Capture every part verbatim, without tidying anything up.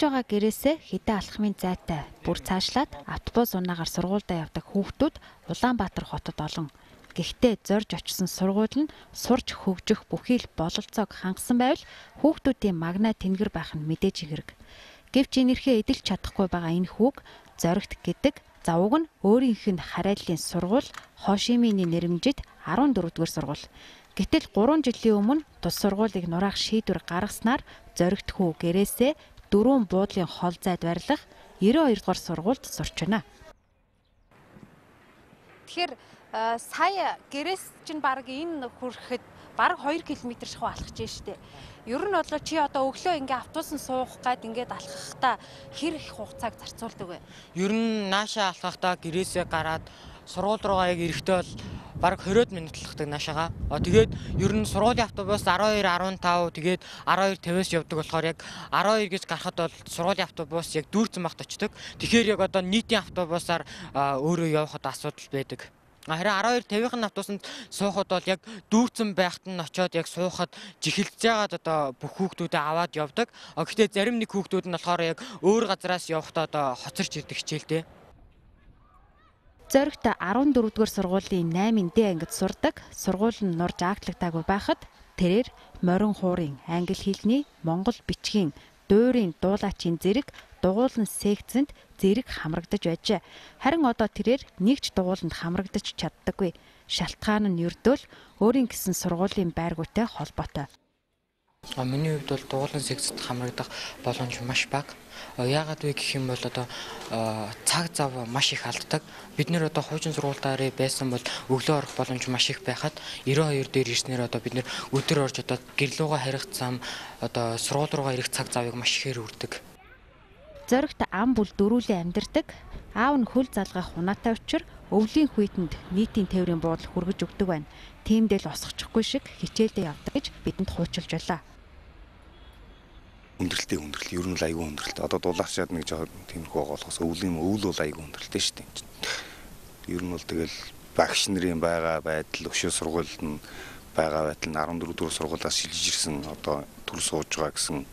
байгаа гэрээсээ хэдэн алхмын зайтай бүр цаашлаад автобус унаагаар сургуультай явдаг хүүхдүүд Улаанбаатар хотод олон. Гэхдээ зорж очсон сургууль нь сурч хөгжих бүхий л бололцоог хангасан байвал хүүхдүүдийн магнаа тэнгэр байх нь мэдээж хэрэг. Гэвч энэрхээ эдэлж чадахгүй байгаа энэ хүүг зоригт гэдэг завуг нь өөрийнх нь харайллын сургууль Хошимины нэрмжид арван дөрөвдүгээр сургууль. Гэтэл гурван жилийн өмнө тус сургуулийг нураах шийдвэр гаргаснаар зоригт хүү гэрээсээ дөрвөн буудлын хол зайд барилах девяносто хоёр дугаар сургуульд сурч байна. Тэгэхээр сая гэрээс чинь баг энэ хүрэхэд баг хоёр километр шахуу алхаж штэ. Ер нь бол чи одоо өглөө ингээ автобусан суух гад ингээд алхахдаа хэр их хугацааг зарцуулдаг вэ? Ер нь наашаа алхахдаа гэрээсээ гараад сургууль руугаа яг ирэхдээ бол бараг двадцать минут алхдаг наашаага. Тэгээд ер нь сургуулийн автобус twelve fifteen тэгээд twelve fifty-с явдаг болохоор яг twelve гэж гарахад бол сургуулийн автобус яг дүүрцэн багт очдог. Тэгэхээр яг одоо нийтийн автобусаар өөрөө явахад асуудал байдаг. Харин twelve fifty-ийн автобусанд суухад бол яг дүүрцэн байхад нь очиод яг суухад жихэлж байгаад одоо бүх хүүхдүүдээ аваад явдаг. Гэхдээ зарим нэг хүүхдүүд нь болохоор яг өөр газараас явахдаа одоо хоцорч ирдэг хичээлтэй. Зоригт14 дугаар сургуулийн eight Д ангид сурдаг. Сургууль нь нурж ааглагдаагүй байхад тэрээр морин хуурын англи хэлний монгол бичгийн дуурийн дуулаачийн зэрэг дугуулан секцэнд зэрэг хамрагдаж байжээ. Харин одоо тэрээр нэгч дугууланд хамрагдаж чаддаггүй. Шалтгаан нь ердөө л өөрийн гэсэн сургуулийн байргуутай холбоотой. А миний хувьд бол дугуулан секцэд хамрагдах боломж маш бага. Яагаад вэ гэх юм бол одоо цаг зав маш их алддаг. Бид нэр одоо хуучин сургуультаар байсан бол өглөө орох боломж маш их байхад ninety-two дээр ирснээр одоо бид нэр өдөр орж одоо гэрлүүгээ харих зам одоо сургууль руугаа ирэх цаг завыг маш ихээр үрдэг. Зоригт ам бүл дөрүүлэн амьдардаг. Аав нь хөл залгах унаатай учир өвлийн хүйтэнд нийтийн тээврийн буудал хүргэж өгдөг байна. Тиймдэл осгочихгүй шиг хичээлдээ явдаг гэж бидэнд хуучилж байлаа. Өндөрлөлтөө өндөрлөл ер нь л аягүй өндөрлөлт. Одоо дулаачаад нэг жоо тиймэрхүү болохоос өвлийн өвөл бол аягүй өндөрлөлтэй шүү дээ. Ер нь бол тэгэл багш нарын байгаа байдал, өшөө сургуульд нь байгаа байдал нь fourteen дугаар сургуулиас шилжиж ирсэн одоо төр сууж байгаа гэсэн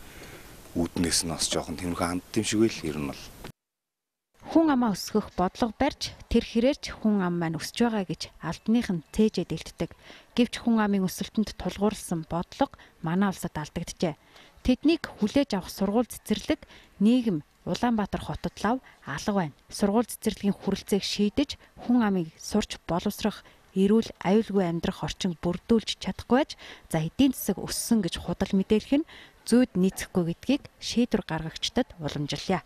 үүднээс нь бас жоохон тиймэрхүү хандд юм шиг байл ер нь бол. Хүн амаа өсгөх бодлого барьж тэр хэрээрч хүн ам маань өсөж байгаа гэж албаных нь цээжэд илтдэг. Гэвч хүн амын өсөлтөнд тулгуурласан бодлого манай улсад алдагджээ. Тэднийг хүлээж авах сургууль цэцэрлэг нийгэм Улаанбаатар хотод лав алга байна. Сургууль цэцэрлэгийн хүрэлцээг шийдэж хүн амыг сурч боловсрох эрүүл аюулгүй амьдрах орчин бүрдүүлж чадахгүй байж за эдийн засаг өссөн гэж худал мэдээлэх нь зүйд нийцэхгүй гэдгийг шийдвэр гаргагчдад уламжлалаа.